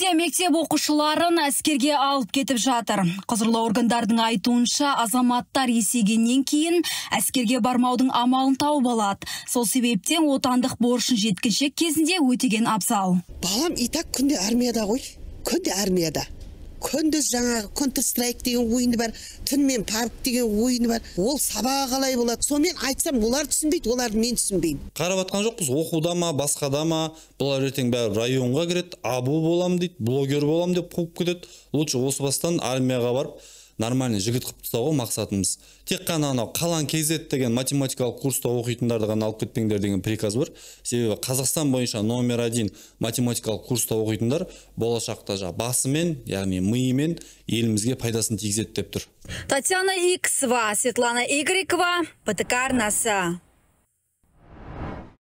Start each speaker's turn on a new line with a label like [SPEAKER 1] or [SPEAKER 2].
[SPEAKER 1] Қыркүйекте мектеп оқушыларын әскерге алып кетіп жатыр. Құзырлы органдардың айтуынша, азаматтар есейгеннен кейін әскерге бармаудың амалын тауып алады. Сол себептен отандық борышын жеткіншек кезінде өтеген абзал.
[SPEAKER 2] Балам и так күнде армияда ғой. Күнде армияда. Күндіз жаңағы Counter-Strike деген ойыны бар, түнмен парк деген ойыны бар. Ол сабағы қалай болады? Сонымен айтсам, олар түсінбейді, оларды мен түсінбеймін.
[SPEAKER 3] Қарап атқан жоқпыз, оқуда ма, басқада ма, бұлар ертең бәрі районға кіреді, абу болам дейді, блогер болам деп қуып кетеді. Лучше осы бастан армияға барып, нормальный жігіт қып тастауға мақсатымыз. Тек қана анау қалан KZ деген математикалық курста оқитындарды ғана алып кетпеңдер деген приказ бар. Себебі Қазақстан бойынша номер 1 математикалық курста оқитындар болашақта басымен, яғни миымен елімізге пайдасын тигізеді деп тұр.
[SPEAKER 1] Татьяна Иксова, Светлана Игорькова, ПТК арнасы.